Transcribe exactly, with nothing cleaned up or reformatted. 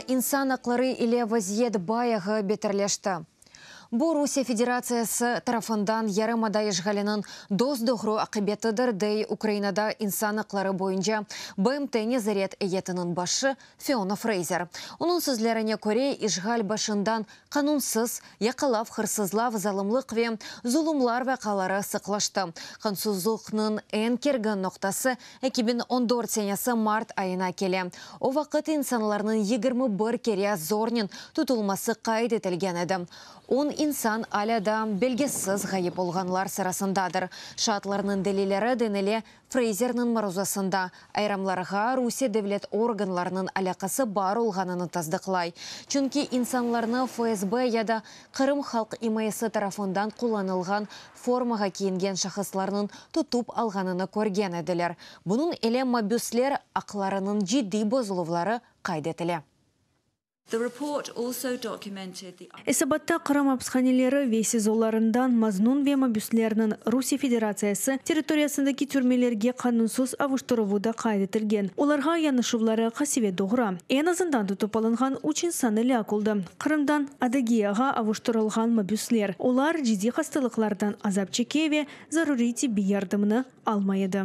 İnsan aqları ile vaziyet bayağı beterleşti. Bu Rusiye Federatsiyası tarafından yarımada işğaliniñ dos-doğru aqibetidir, dey Ukrainada insan aqları boyunca B M T nezaret eyyetiniñ başı Fiona Freyzer. Onıñ sözlerine köre, işğal başından qanunsız yaqalav, hırsızlav, zalımlıq ve zulumlar vaqiaları sıqlaştı. Qanunsızlıqnıñ eñ kergin noqtası eki biñ on dört senesi mart ayına kele. O vaqıt insanlarnıñ yigirmi bir kere zornen tutulması qayd etilgen edi. On insan alâ da belgisiz ğayıp olğanlar sırasındadır. Şaatlarnıñ delilleri, denile Freyzerniñ maruzasında, ayırımlarğa Rusiye devlet organlarınıñ alâqası bar olğanını tasdıqlay. Çünki insanlarnı F S B ya da Qırım halq imayesi tarafından qullanılğan formağa kiyingen şahıslarnıñ tutıp alğanını körgen ediler. Bunıñ ile mabüsler aqlarınıñ ciddiy bozuluvları qayd etile. The report also documented the Esabatta Qırım apishaneleri ve SİZOlarından maznun ve mabüslerniñ Rusiye Federatsiyası territoriyasındaki türmelerge qanunsız avuştıruvı da qayd etilgen. Olarğa yanaşuvları qasevet doğura. Eñ azından tutıp alınğan üç insan elâk oldı. Qırımdan Adıgeyağa avuştırılğan mabüsler. Olar ciddiy hastalıqlardan azap çeke ve zaruriy tibbiy yardımını almay edi.